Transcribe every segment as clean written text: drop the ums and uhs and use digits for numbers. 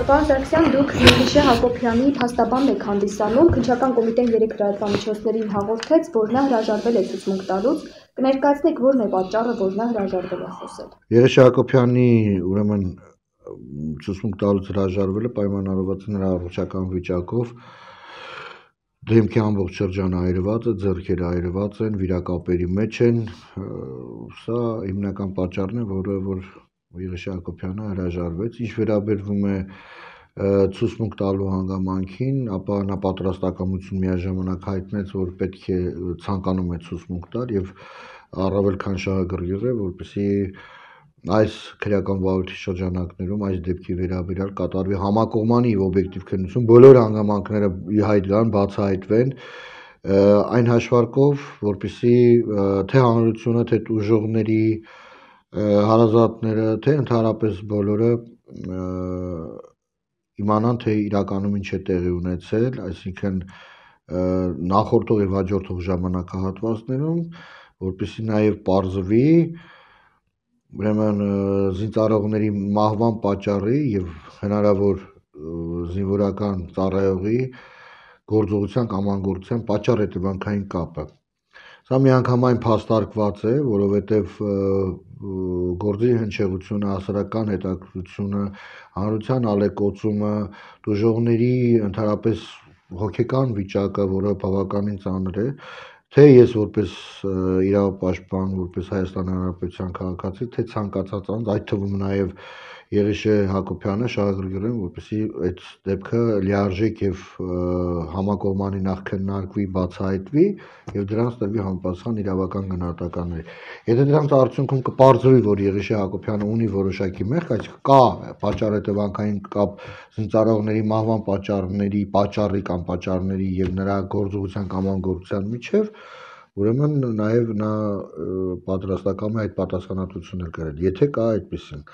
Պարոն Սարգսյան, դուք Եղիշե Հակոբյանի փաստաբանն եք հանդիսանում, քննչական կոմիտեն 3 լրատվամիջոցներին հաղորդեց, որ նա հրաժարվել է ցուցմունք տալուց, կներկայացնեք որն է պատճառը, որ նա հրաժարվել է խոսել։ Եղիշե Հակոբյանի ուրեմն ցուցմունք տալուց հրաժարվելը պայմանավորված է նրա առողջական վիճակով, դեմքի ամբողջ շրջանը այրված է, ձեռքերը այրված են, վիրակապերի մեջ են, սա հիմնական պատճառն է, որ Եղիշե Հակոբյանը հրաժարվեց, ինչ վերաբերվում է ցուցմունք տալու հանգամանքին, ապա նա պատրաստակամություն միաժամանակ հայտնեց, որ պետք է ցանկանում է ցուցմունք տալ եւ առավել քան շահագրգիռ է, որպեսզի այս քրեական վարույթի շրջանակներում այս դեպքի վերաբերյալ կատարվի համակողմանի եւ օբյեկտիվ քննություն, բոլոր հանգամանքները ի հայտ գան, բացահայտվեն, այն հաշվարկով, որպեսզի թե հանրությունը, թե ուժողների հարազատները, թե ընդհանրապես բոլորը իմանան, թե իրականում ինչ է տեղի ունեցել, այսինքն նախորդող եւ հաջորդող ժամանակահատվածներում, որպեսզի նաեւ պարզվի ուրեմն զինծառայողների մահվան պատճառի եւ հնարավոր զինվորական ծառայողի գործողության կամ անգործության պատճառ-հետևանքային կապը։ Սա միանգամայն փաստարկված է, որովհետեւ գործի հնչեղությունը, հասարակական հետաքրքրությունը, հանրության ալեկոծումը, դժողների ընդհանրապես հոգեկան վիճակը, որը բավականին ծանր է, թե ես որպես իրավապաշտպան, որպես Հայաստանի Հանրապետության քաղաքացի, թե ցանկացած անձ, այդ թվում նաև Եղիշե Հակոբյանը շահագրգիռ են, որպեսզի այդ դեպքը լիարժեք եւ համակողմանի նախ քննարկվի, բացահայտվի եւ դրանց տրվի համապատասխան իրավական գնահատականներ։ Եթե դրանց արդյունքում կպարզվի, որ Եղիշե Հակոբյանը ունի որոշակի մեղք, այսինքն կա պատճառ-հետևանքային կապ զինծառայողների մահվան պատճառի կամ պատճառների եւ նրա գործողության կամ անգործության միջև, ուրեմն նաև նա պատրաստակամ է այդ պատասխանատվությունը կրել, եթե կա այդպեսին։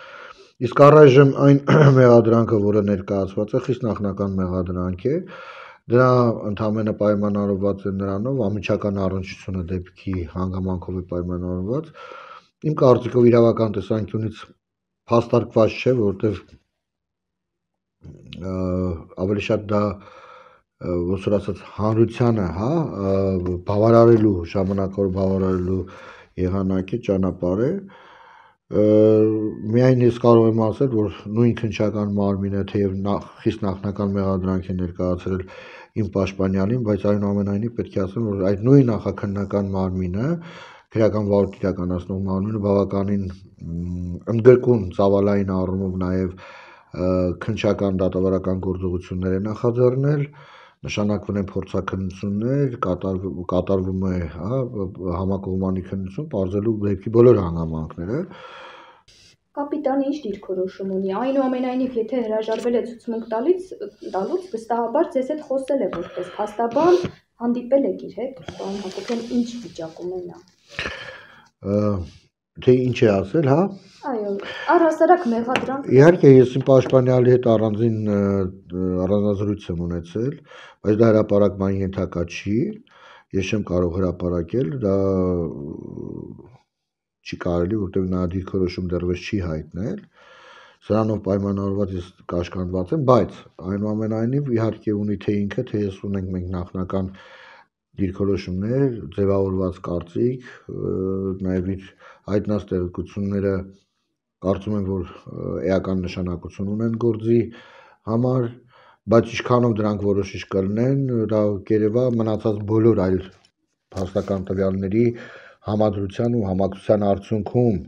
Իսկ առայժմ այն մեղադրանքը, որը ներկայացված է, խիստ նախնական մեղադրանք է, դրա ընդհանրապես պայմանավորված է նրանով, անմիջական առնչությունը դեպքի հանգամանքով է պայմանավորված։ Իմ կարծիքով իրավական տեսանկյունից փաստարկված չէ, որովհետև ավելի շատ դա ոնց որ ասած հանրությանը, հա, բավարարելու ժամանակավոր բավարարելու եղանակ է, ճանապարհ է, միայն ես կարող եմ ասել, որ նույն քննչական մարմինը թեև խիստ նախնական մեղադրանք է ներկայացրել իմ պաշտպանյալին, բայց այնուամենայնիվ պետք է ասեմ, որ այդ նույն նախաքննական մարմինը, քրեական վարույթ իրականացնող մարմինը բավականին ընդգրկուն ծավալային առումով նաև քննչական դատավարական գործողություններ է նախաձեռնել, նշանակվում են փորձաքննություններ, կատարվում է համակողմանի քննություն, պարզելու դեպքի բոլոր հանգամանքները։ Կապիտանը ինչ դիրքորոշում ունի, այնուամենայնիվ, եթե հրաժարվել է ցուցմունք տալուց, վստահաբար ձեզ հետ խոսել է որպես փաստաբան, հանդիպել եք իր հետ, պարոն Հակոբյան, ինչ վիճակում է նա։ Թե ինչ է ասել, հա։ Այո, առհասարակ մեղադրանք։ Իհարկե, ես իմ պաշտպանյալի հետ առանձին առանձնազրույց եմ ունեցել, բայց դա հրապարակման ենթակա չի, ես չեմ կարող հրապարակել, դա չի կարելի, որտեղ նա դիրքորոշում դեռևս չի հայտնել, սրանով պայմանավորված ես կաշկանդված եմ, բայց այնուամենայնիվ իհարկե ունի թե ինքը, թե ես ունենք մենք նախնական դիրքորոշումներ, ձևավորված կարծիք, նաև իր հայտնած տեղեկությունները կարծում եմ, որ էական նշանակություն ունեն գործի համար, բայց ինչքանով դրանք որոշիչ կլինեն, դա կերևա մնացած բոլոր այլ փաստական տվյալների համադրության ու համակցության արդյունքում,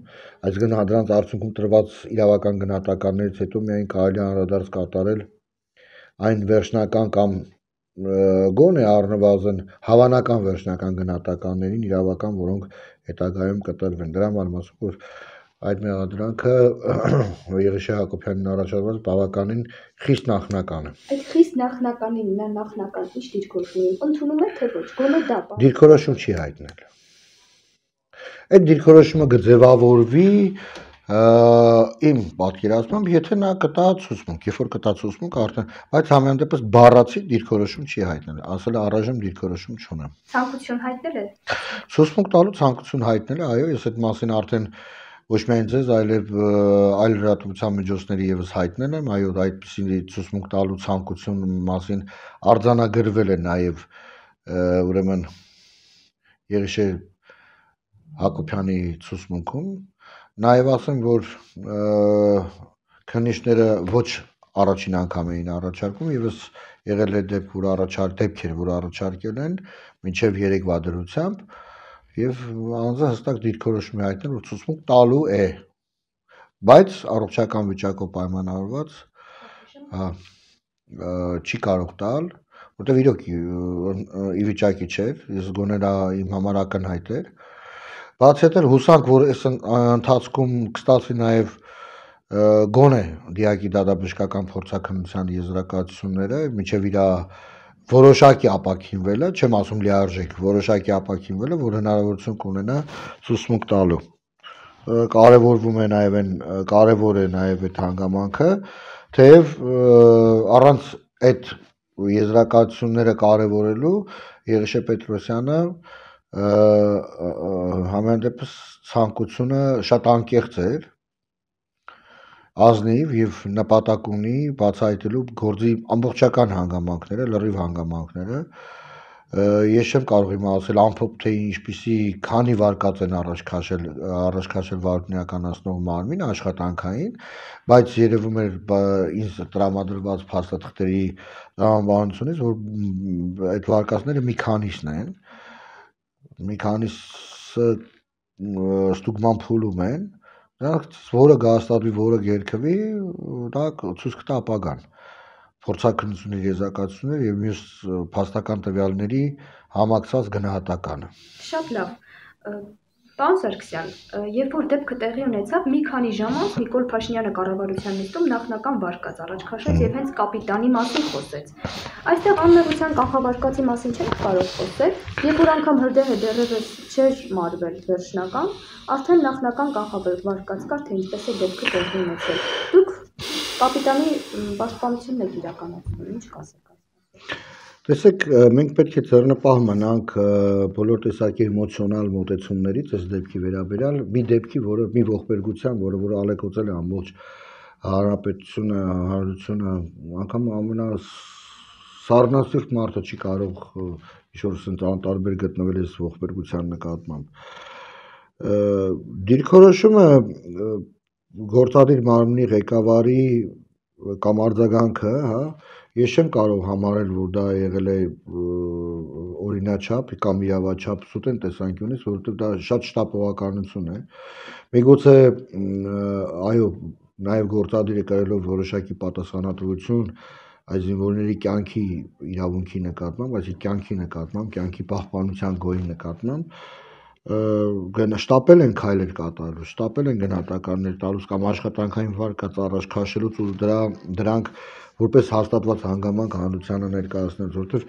այսինքն դրանց արդյունքում տրված իրավական գնահատականներից հետո միայն կարելի է անդրադարձ կատարել այն վերջնական կամ գոնե առնվազն հավանական վերջնական գնահատականներին իրավական, որոնք հետագայում կտրվեն։ Դրա համար ասում, որ այդ մեղադրանքը Եղիշե Հակոբյանին առաջադրված բավականին խիստ նախնական է։ Այդ խիստ նախնականին նա նախնական ինչ դիրքորոշում ունի, ընդունում է թե ոչ, գոնե դա։ Դիրքորոշում չի հայտնել։ Այդ դիրքորոշումը կձևավորվի իմ պատկերացմամբ, եթե նա կտա ցուցմունք, երբ որ կտա ցուցմունք արդեն, բայց համենայն դեպս բառացի դիրքորոշում չի հայտնել, ասել է առայժմ դիրքորոշում չունեմ։ Ցանկություն հայտնել է։ Ցուցմունք տալու ցանկություն հայտնել է, այո, ես այդ մասին արդեն ոչ միայն ձեզ, այլև այլ լրատվության միջոցների եւս հայտնել եմ, այո, այդպիսի ցուցմունք տալու ցանկություն մասին արձանագրվել է նաեւ ուրեմն Երիշե Հակոբյանի ցուցմունքում, նաեւ ասեմ, որ քննիչները ոչ առաջին անգամ էին առաջարկում եւ եղել է դեպքեր, որ առաջարկել են մինչեւ 3 դրությամբ եւ անձը հստակ դիրքորոշում է հայտնել, որ ցուցմունք տալու է, բայց առողջական վիճակով պայմանավորված չի կարող տալ, որտեղ իրոք ի վիճակի չէր, ես գոնե դա իմ համար ակնհայտ էր։ Բացի այդ հուսանք, որ այս ընթացքում կստացվի նաեւ գոնե դիակի դատաբժշկական փորձաքննության եզրակացությունները, մինչեւ իր որոշակի ապակինվելը, չեմ ասում լիարժեք, որոշակի ապակինվելը, որ հնարավորություն կունենա ցուցմունք տալու։ Կարևոր է նաեւ այդ հանգամանքը, թեև առանց այդ եզրակացությունները կարևորելու Երիշե Պետրոսյանը համենայն դեպս ցանկությունը շատ անկեղծ էր, ազնիվ եւ նպատակ ունի բացահայտելու գործի ամբողջական հանգամանքները, լրիվ հանգամանքները։ Ես չեմ կարող հիմա ասել ամփոփ թե ինչպիսի քանի վարկած են առաջ քաշել վարորդականացնող մարմին աշխատանքային, բայց երևում էր ինձ տրամադրված փաստաթղթերի տրամաբանությունից, որ այդ վարկածները մի քանիսն են, մի քանիսը ստուգման փուլում են, որը գահստատվի, որը գերքվի, դա ցույց կտա ապագան, փորձաքննությունների եզրակացությունները եւ մյուս փաստական տվյալների համակցած գնահատականը։ Շատ լավ։ Պարոն Սարգսյան, երբ որ դեպքը տեղի ունեցավ, մի քանի ժամ անց Նիկոլ Փաշինյանը կառավարության նիստում նախնական վարկած առաջ քաշեց եւ հենց կապիտանի մասին խոսեց։ Այստեղ անմեղության կանխավարկածի մասին չենք կարող խոսել, երբ որ անգամ հրդեհը դեռևս չէր մարվել վերջնական, արդեն նախնական կանխավարկած կար, թե ինչպես է դեպքը տեղի ունեցել։ Դուք կապիտանի պաշտպանությունն եք իրականացնում, ինչ կասեք։ Տեսեք, մենք պետք է ձեռնպահ մնանք բոլոր տեսակի էմոցիոնալ մոտեցումներից այս դեպքի վերաբերյալ, մի դեպքի, որը մի ողբերգության, որը ալեկոծել է ամբողջ հանրապետությունը, հանրությունը, անգամ ամենասառնասիրտ մարդը չի կարող ինչ-որ ասենց անտարբեր գտնվել այս ողբերգության նկատմամբ։ Դիրքորոշումը գործադիր մարմնի ղեկավարի կամ արձագանքը, հա, ես չեմ կարող համարել, որ դա եղել է օրինաչափ կամ իրավաչափ սուտեն տեսանկյունից, որովհետև դա շատ շտապողականություն է։ Միգուցե այո, նաև գործադիրը կրելով որոշակի պատասխանատվություն այս զինվորների կյանքի իրավունքի նկատմամբ, այսինքն կյանքի նկատմամբ, կյանքի պահպանության գոյի նկատմամբ շտապել են քայլեր կատարելու, շտապել են գնահատականներ տալուց կամ աշխատանքային վարկած առաջ քաշելուց ու դրանք որպես հաստատված հանգամանք հանրությանը ներկայացնել, որովհետև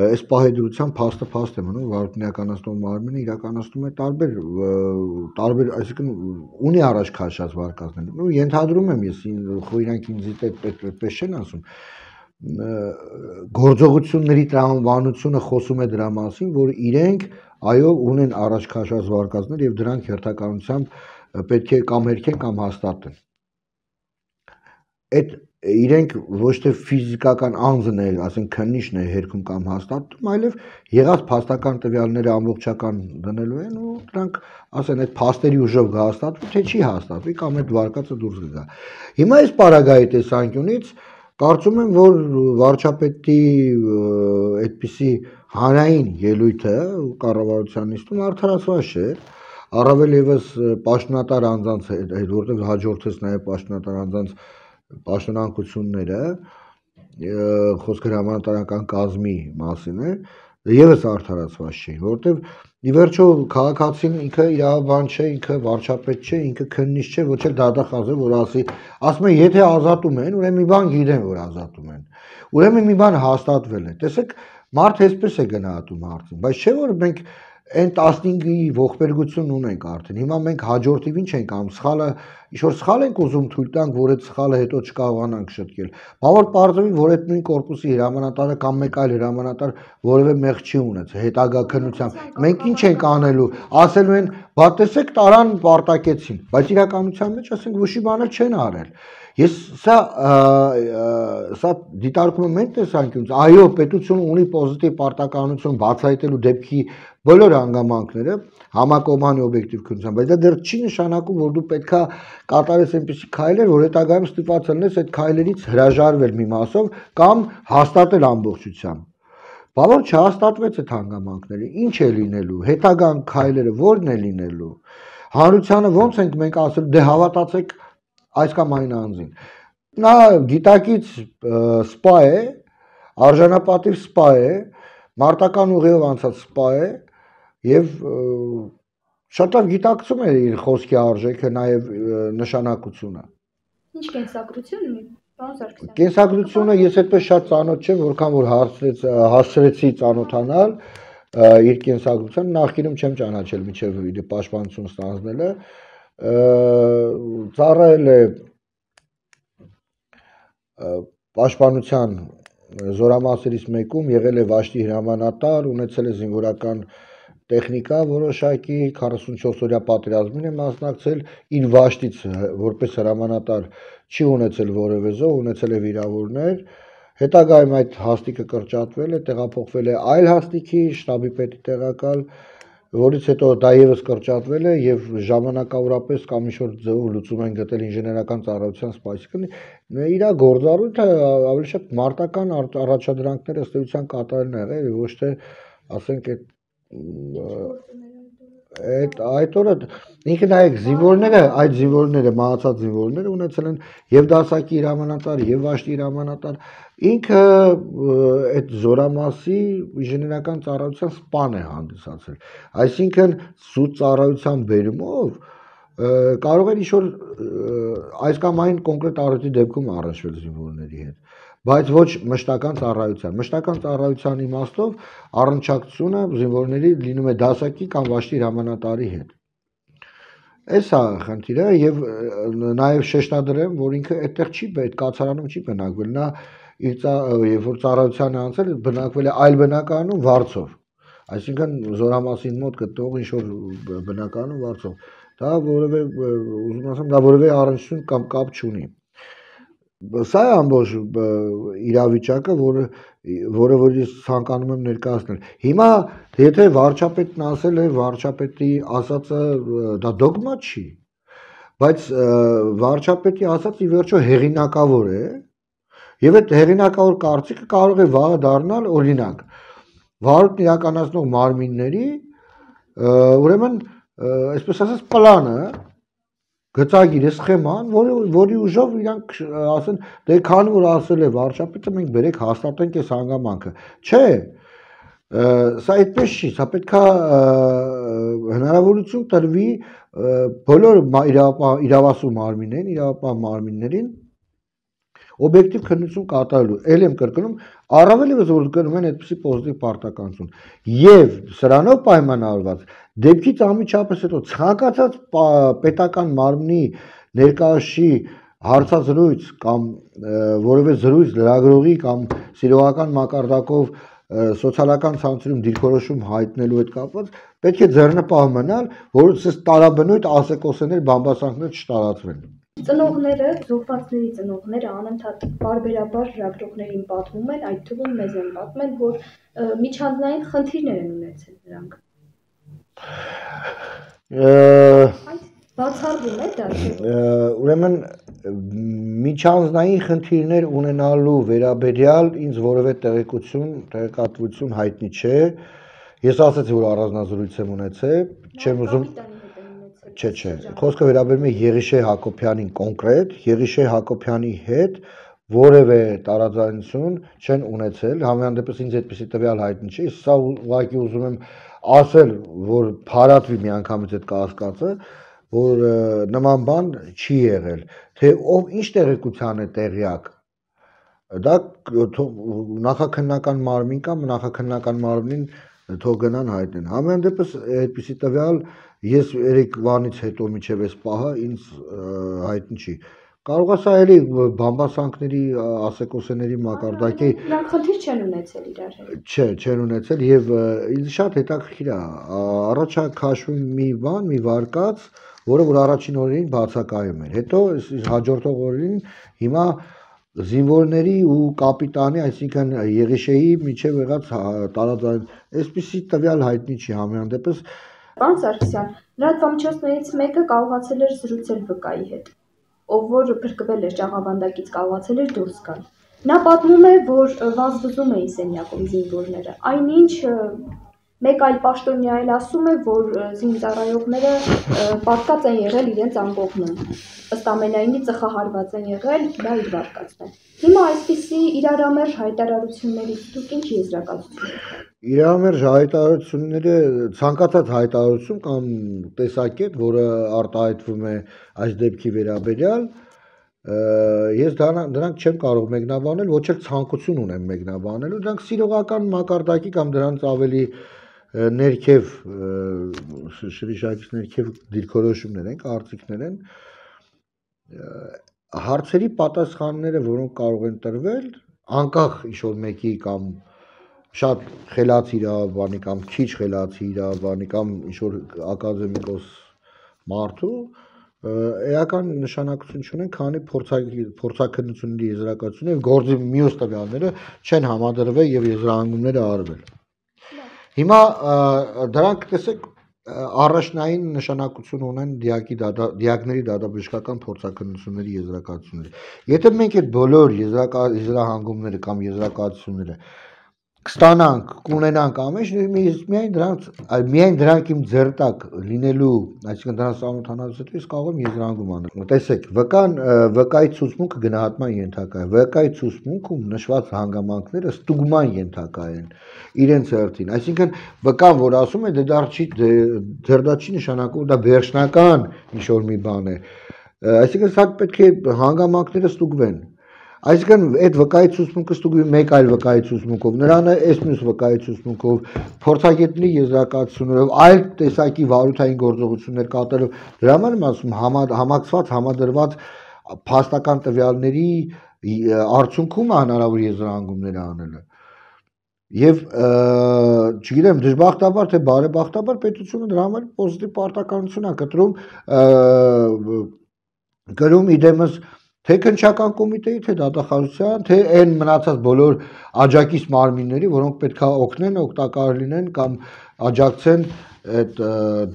այս պահի դրությամբ փաստ է մնում, վարորդականացնող մարմինը իրականացնում է տարբեր, այսինքն ունի առաջ քաշած վարկածներ։ Ու ենթադրում եմ ես, իրանք ինձ այդպես չեն ասում, գործողությունների տրամաբանությունը խոսում է դրա մասին, որ իրենք այո ունեն առաջ քաշած վարկածներ եւ դրանք հերթականությամբ պետք է կամ հերքեն կամ հաստատեն։ Այդ իրենք ոչ թե ֆիզիկական անձն է, ասենք քննիչն է հերքում կամ հաստատում, այլև եղած փաստական տվյալները ամբողջական դնելու են ու դրանք ասեն այդ փաստերի ուժով կհաստատվի, թե չի հաստատվի կամ այդ վարկածը դուրս կգա։ Հիմա այս պարագայի տեսանկյունից կարծում եմ, որ վարչապետի այդպիսի հանրային ելույթը կառավարության նիստում արդարացված չէր, առավել եւս պաշտոնատար անձանց հետ, որտեղ հաջորդեց նաեւ պաշտոնատար անձանց պաշտոնանկությունները, խոսքը հրամանատարական կազմի մասին է, եւս արդարացված չէ, որտեղ ի վերջո քաղաքացին ինքը իրավաբան չէ, ինքը վարչապետ չէ, ինքը քննիչ չէ, ոչ էլ դատախազ է, որ ասում է, եթե ազատում են, ուրեմն մի բան գիտեն, որ ազատում են։ Ուրեմն մի բան հաստատվել է։ Տեսեք, մարդը այսպես է գնահատում հարցին, բայց չէ որ մենք Այն 15-ի ողբերգություն ունենք արդեն։ Հիմա մենք հաջորդիվ ինչ ենք անում, սխալը ինչ-որ սխալ ենք ուզում թույլ տանք, որ այդ սխալը հետո չկարողանանք շտկել։ Բավարար պարզվի, որ այդ նույն կորպուսի հրամանատարը կամ մեկ այլ հրամանատար որևէ մեղք չի ունեցել հետագա քննությամբ։ Մենք ինչ ենք անելու, ասելու են, բա տեսեք տարան պարտակեցին, բայց իրականության մեջ ասենք ոչի բան չեն արել։ Ես սա դիտարկում եմ այն տեսանկյունից, այո, պետությունը ունի պոզիտիվ պարտականություն բացահայտելու դեպքի բոլոր հանգամանքները համակողմանի օբյեկտիվ քննությամբ, բայց դա դեռ չի նշանակում, որ դու պետքա կատարես այնպիսի քայլեր, որ հետագայում ստիպված լինես այդ քայլերից հրաժարվել մի մասով կամ հաստատել ամբողջությամբ։ Բավարար չհաստատվեց այդ հանգամանքները, ինչ է լինելու, հետագան քայլերը ո՞րն է լինելու։ Հանրությանը ո՞նց ենք մենք ասել, դե հավատացեք այս կամ այն անձին։ Նա գիտակից սպա է, արժանապատիվ սպա է, մարտական ուղիով անցած սպա է եւ շատ լավ գիտակցում է իր խոսքի արժեքը, նաեւ նշանակությունը։ Ինչ կենսագրություն ունի, պարոն Սարգսյան։ Կենսագրությունը ես այդպես շատ ծանոթ չեմ, որքան որ հասցրեցի ծանոթանալ իր կենսագրության, նախկինում չեմ ճանաչել միջև իր պաշտպանություն ստանձնելը, ծառայել է պաշտպանության զորամասերից մեկում, եղել է Վաշտի հրամանատար, ունեցել է զինվորական տեխնիկա որոշակի 44-օրյա պատերազմին է մասնակցել, իր Վաշտից որպես հրամանատար չի ունեցել որևէ զոհ, ունեցել է վիրավորներ, հետագայում այդ հաստիկը կրճատվել է, տեղափոխվել է այլ հաստիքի, շտաբի պետի տեղակալ, որից հետո դա եւս կրճատվել է եւ ժամանակավորապես կամ ինչ-որ ձևով լուծում են գտել ինժեներական ծառայության սպասիկն, իր գործառույթը ավելի շատ մարտական առաջադրանքներ ըստ էության կատարելն է եղել, ոչ թե ասենք այդ օրը ինքը նայեք զինվորները, այդ զինվորները, մահացած զինվորները ունեցել են եւ դասակի հրամանատար եւ Վաշտի հրամանատար, ինքը այդ զորամասի ինժեներական ծառայության սպան է հանդիսացել, այսինքն սուտ ծառայության բերումով կարող էր ինչ-որ այս կամ այն կոնկրետ առիթի դեպքում առնչվել զինվորների հետ, բայց ոչ մշտական ծառայության իմաստով առնչակցությունը զինվորների լինում է դասակի կամ Վաշտի հրամանատարի հետ։ Այս է խնդիրը եւ նաեւ շեշտադրեմ, որ ինքը այդտեղ չի այդ կացարանում չի բնակվել, նա երբ որ ծառայության է անցել, բնակվել է այլ բնակարանում Վարձով, այսինքն զորամասին մոտ գտնող ինչ-որ բնակարանում Վարձով, դա որևէ ուզում ասեմ, դա որևէ առնչություն կամ կապ չունի։ Սա է ամբողջ իրավիճակը, որը որ ես ցանկանում եմ ներկայացնել։ Հիմա եթե վարչապետն ասել է, վարչապետի ասածը դա դոգմա չի, բայց վարչապետի ասածը ի վերջո հեղինակավոր է, եւ այդ հեղինակավոր կարծիքը կարող է վաղը դառնալ օրինակ վարույթն իրականացնող մարմինների ուրեմն այսպես ասած պլանը գծագիրը սխեման, որի ուժով իրանք ասեն, դե քանի որ ասել է վարչապետը, մենք բերեք հաստատենք այս հանգամանքը։ Չէ, սա այդպես չի, սա պետքա հնարավորություն տրվի բոլոր իրավասու մարմիններին օբյեկտիվ քննություն կատարելու, ել եմ կրկնում, առավել ևս որ կրում են այդպիսի պոզիտիվ պարտականություն։ Եվ սրանով պայմանավորված դեպքից անմիջապես հետո ցանկացած պետական մարմնի ներկայացի հարցազրույց կամ որևէ զրույց լրագրողի կամ սիրողական մակարդակով սոցիալական ցանցերում դիրքորոշում հայտնելու հետ կապված պետք է ձեռնպահ մնալ, որ տարաբնույթ ասեկոսեներ, բամբասանքներ չտարածվեն։ Ծնողները, զոհվածների ծնողները անընդհատ բարբերաբար լրագրողներին պատմում են, այդ թվում մեզ են պատմել, որ միջանձնային խնդիրներ են ունեցել նրանք։ Բացառվում է դա։ Ուրեմն միջանձնային խնդիրներ ունենալու վերաբերյալ ինձ որևէ տեղեկատվություն հայտնի չէ։ Ես ասացի, որ առանձնազրույց եմ ունեցել, չեմ ուզում Չէ, խոսքը վերաբերում է Եղիշե Հակոբյանին կոնկրետ, Եղիշե Հակոբյանի հետ որևէ տարաձայնություն չեն ունեցել, համենայն դեպս ինձ այդպիսի տվյալ հայտնի չէ, սա ուղղակի ուզում եմ ասել, որ փարատվի միանգամից այդ կասկածը, որ նման բան չի եղել, թե ով ինչ տեղեկության է տեղյակ, դա նախաքննական մարմին կամ նախաքննական մարմնին թող գնան հայտնեն։ Համեն դեպս այդպիսի տվյալ ես Երևանից հետո միջև այս պահը ինձ հայտնի չի։ Կարող է սա էլի բամբասանքների ասեկոսեների մակարդակի նրանք խնդիր չեն ունեցել իրար հետ։ Չէ, չեն ունեցել եւ ինձ շատ հետաքրքիր է առաջա քաշվում մի բան, մի վարկած, որը որ առաջին օրերին բացակայում էր։ Հետո հաջորդող օրերին հիմա զինվորների ու կապիտանի, այսինքն Եղիշեի միջև եղած տարաձայն, այսպիսի տվյալ հայտնի չի համենայն դեպս։ Պարոն Սարգսյան, լրատվամիջոցներից մեկը կարողացել էր զրուցել վկայի հետ, ով որ փրկվել էր ճաղավանդակից, կարողացել էր դուրս գալ։ Նա պատմում է, որ վազվզում էին սենյակում զինվորները, այնինչ մեկ այլ պաշտոնյա էլ ասում է, որ զինծառայողները պարտված են եղել իրենց անկողնում, ըստ ամենայնի ծխահարված են եղել, դա իր վարկածն է։ Հիմա այսպիսի իրարամերժ հայտարարություններից դուք ինչ եզրակացություն եք։ Իրարամերժ հայտարարությունները ցանկացած հայտարարություն կամ տեսակետ, որը արտահայտվում է այս դեպքի վերաբերյալ, ես դրանք չեմ կարող մեկնաբանել, ոչ էլ ցանկություն ունեմ մեկնաբանելու, դրանք սիրողական մակարդակի կամ դրանց ավելի ներքև շրիշակից ներքև դիրքորոշումներ են, կարծիքներ են, հարցերի պատասխանները, որոնք կարող են տրվել, անկախ ինչ-որ մեկի կամ շատ խելացի իրավաբանի կամ քիչ խելացի իրավաբանի կամ ինչ-որ ակադեմիկոս մարդու էական նշանակություն չունեն, քանի փորձաքննությունների եզրակացությունները եւ գործի մյուս տվյալները չեն համադրվել եւ եզրահանգումները արվել։ Հիմա դրանք տեսեք առաջնային նշանակություն ունեն դիակների դատաբժշկական փորձաքննությունների եզրակացությունները։ Եթե մենք այդ բոլոր եզրահանգումները կամ եզրակացությունները կստանանք, կունենանք ամեն միայն դրանք իմ ձեռտակ լինելու, այսինքն դրանց ծանոթանալուց հետո ես կարող եմ եզրահանգում անել։ Տեսեք, վկայի ցուցմունքը գնահատման ենթակա է։ Վկայի ցուցմունքում նշված հանգամանքները ստուգման ենթակա են իրենց հերթին։ Այսինքն վկան, որ ասում է, դա չի նշանակում, դա վերջնական ինչ-որ մի բան է։ Այսինքն սա պետք է հանգամանքները ստուգվեն։ Այսինքն այդ վկայի ցուցմունքը ստուգվի մեկ այլ վկայի ցուցմունքով, նրանը այս մյուս վկայի ցուցմունքով, փորձագետների եզրակացություններով, այլ տեսակի վարութային գործողություններ կատարելով, դրա համար եմ ասում համակցված, համադրված փաստական տվյալների արդյունքում հնարավոր եզրահանգումներ անելը։ Եվ չգիտեմ, դժբախտաբար թե բարեբախտաբար պետությունը դրա համար պոզիտիվ պարտականություն է կրում իդեմս թե քննչական կոմիտեի, թե դատախազության, թե այն մնացած բոլոր աջակից մարմինների, որոնք պետք է օգնեն, օգտակար լինեն կամ աջակցեն այդ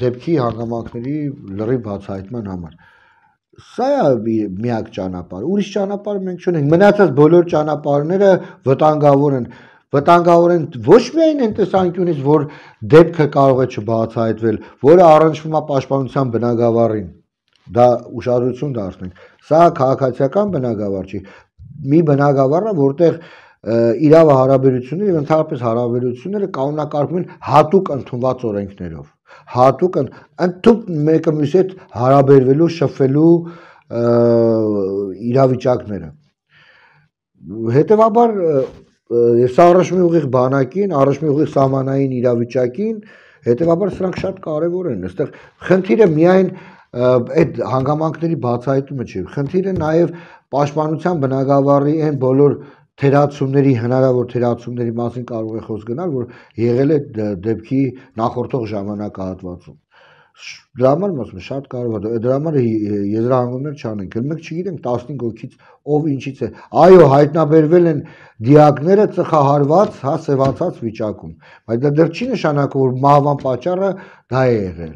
դեպքի հանգամանքների լրիվ բացահայտման համար։ Սա է միակ ճանապարհը, ուրիշ ճանապարհ մենք չունենք։ Մնացած բոլոր ճանապարհները վտանգավոր են։ Վտանգավոր են ոչ միայն այն տեսանկյունից, որ դեպքը կարող է չբացահայտվել, որը առնչվում է պաշտպանության բնագավառին։ Դա ուշադրություն դարձնենք։ Սա քաղաքացիական բնագավառ չի։ Մի բնագավառ է, որտեղ իրավա հարաբերությունները եւ ընդհանրապես հարաբերությունները կանոնակարգվում են հատուկ ընդունված օրենքներով։ Հատուկ ընդཐུպ մեկը մյուսի հետ հարաբերվելու, շփվելու իրավիճակները։ Հետևաբար սա առնչվում է ուղիղ բանակին, առնչվում է ուղիղ սահմանային իրավիճակին, հետևաբար սրանք շատ կարևոր են։ Այստեղ խնդիրը միայն այդ հանգամանքների բացահայտումը չի, խնդիրը նաև պաշտպանության բնագավառի այն բոլոր թերացումների, հնարավոր թերացումների մասին կարող է խոսք գնալ, որ եղել է դեպքի նախորդող ժամանակահատվածում։ Դրա համար ասում եմ, շատ կարևոր է, դրա համար եզրահանգումներ չանենք, մենք չգիտենք 15 հոգից ով ինչից է։ Այո, հայտնաբերվել են դիակները ծխահարված, հա, սևացած վիճակում, բայց դա դեռ չի նշանակում, որ մահվան պատճառը դա է եղել։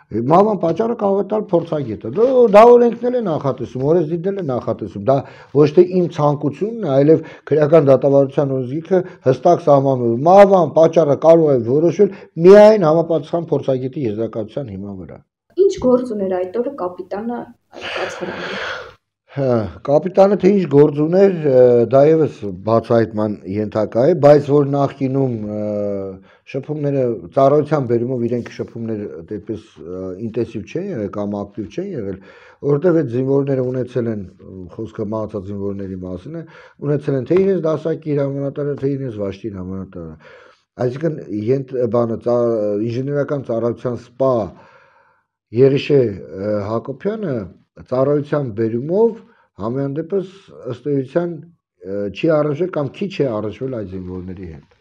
Մահվան պատճառը կարող է տալ փորձագետը։ Դա օրենքն էլ է նախատեսում, օրենսդիրն էլ է նախատեսում։ Դա ոչ թե իմ ցանկությունն է, այլև քրեական դատավարության օրենսգիրքը հստակ սահմանում է։ Մահվան պատճառը կարող է որոշել միայն համապատասխան փորձագետի եզրակացության հիման վրա։ Ինչ գործ ուներ այդ օրը կապիտանը այդ կացարանում։ Կապիտանը թե ինչ գործ ուներ, դա եւս բացահայտման ենթակա է, բայց որ նախկինում շփումները ծառայության բերումով իրենք շփումներ այդպես ինտենսիվ չեն եղել կամ ակտիվ չեն եղել, որովհետեւ այդ զինվորները ունեցել են, խոսքը մահացած զինվորների մասին է, ունեցել են թե իրենց դասակի հրամանատարը, թե իրենց վաշտի հրամանատարը։ Այսինքն ինժեներական ծառայության սպա Եղիշե Հակոբյանը ծառայության բերումով համենայն դեպս ըստ էության չի առնչվել կամ քիչ է առնչվել այդ զինվորների հետ։